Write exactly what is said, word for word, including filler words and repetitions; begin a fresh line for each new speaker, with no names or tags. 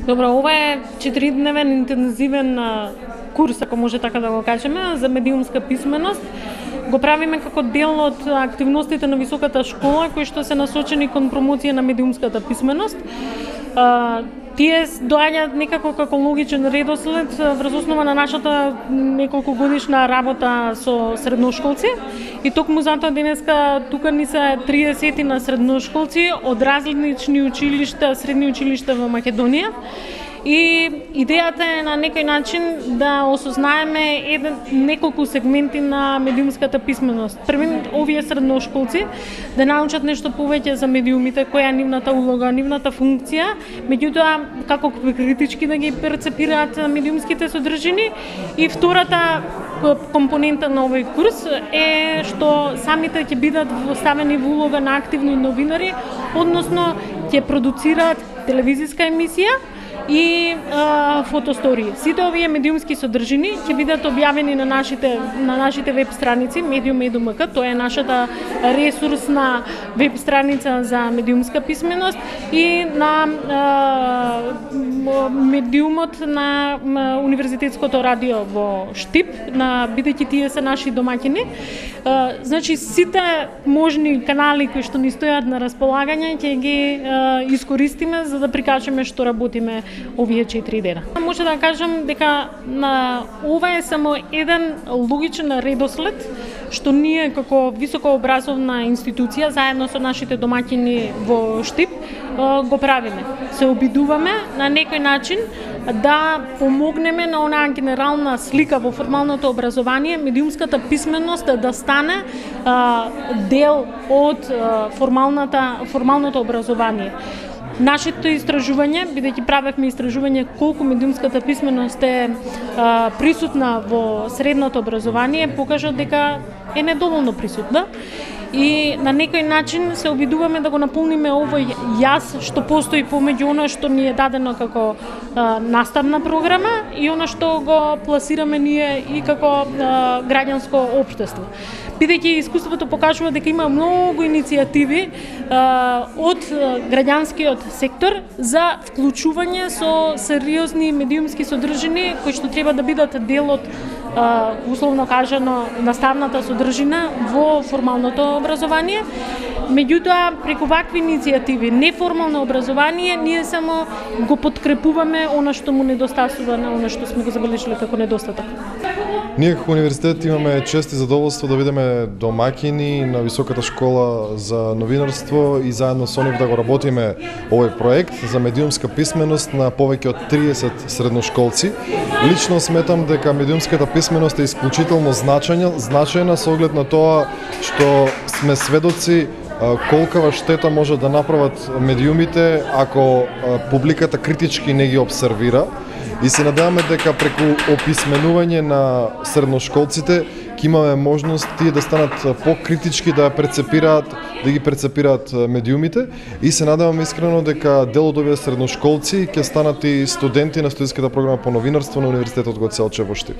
Добро, ова е четиридневен интензивен курс, ако може така да го кажеме, за медиумска писменост. Го правиме како дел од активностите на високата школа, кои што се насочени кон промоција на медиумската писменост. Тие доаѓаат некако како логичен редослед врз основа на нашата неколку годишна работа со средношколци. И токму затоа денеска тука ни се триесет на средношколци од различни училишта, средни училишта во Македонија. И идејата е на некој начин да осознаеме еден, неколку сегменти на медиумската писменост. Првин, овие средношколци да научат нешто повеќе за медиумите, која е нивната улога, нивната функција, меѓутоа како критички да ги перцепираат медиумските содржини. И втората компонента на овој курс е што самите ќе бидат ставени во улога на активни новинари, односно ќе продуцираат телевизиска емисија и а, фотостории. Сите овие медиумски содржини ќе бидат објавени на нашите на нашите веб страници Medium точка edu точка mk. Тоа е нашата ресурсна веб страница за медиумска писменост и на а, медиумот на Универзитетското радио во Штип, на бидејќи тие се наши домаќини. А, значи сите можни канали кои што ни стојат на располагање ќе ги а, искористиме за да прикажеме што работиме овие четири дена. Може да кажам дека на ова е само еден логичен редослед што ние како високообразовна институција заедно со нашите домаќини во Штип го правиме. Се обидуваме на некој начин да помогнеме на онаа генерална слика во формалното образование, медиумската писменост да стане а, дел од а, формалната формалното образование. Нашето истражување, бидејќи правевме истражување колку медиумската писменост е а, присутна во средното образование, покажа дека е недоволно присутна. И на некој начин се обидуваме да го наполниме овој јаз што постои помеѓу она што ни е дадено како а, наставна програма и она што го пласираме ние и како а, граѓанско општество. Бидејќи искуството покажува дека има многу иницијативи а, од граѓанскиот сектор за вклучување со сериозни медиумски содржини кои што треба да бидат дел од а, условно кажано наставната содржина во формалното образование. Меѓутоа, преку вакви иницијативи, неформално образование, ние само го подкрепуваме она што му недостасува на она што сме го забележили како недостаток.
Ние како универзитет имаме чест и задоволство да бидеме домаќини на Високата школа за новинарство и заедно со нив да го работиме овој проект за медиумска писменост на повеќе од триесет средношколци. Лично сметам дека медиумската писменост е исклучително значајна, значајна со оглед на тоа што сме сведоци колкава штета може да направат медиумите ако публиката критички не ги обсервира. И се надеваме дека преку описменување на средношколците ќе имаме можност тие да станат покритички, да ја прецепираат, да ги прецепираат медиумите и се надеваме искрено дека дел од овие средношколци ќе станат и студенти на студентската програма по новинарство на Универзитетот Гоце Делчев во Штип.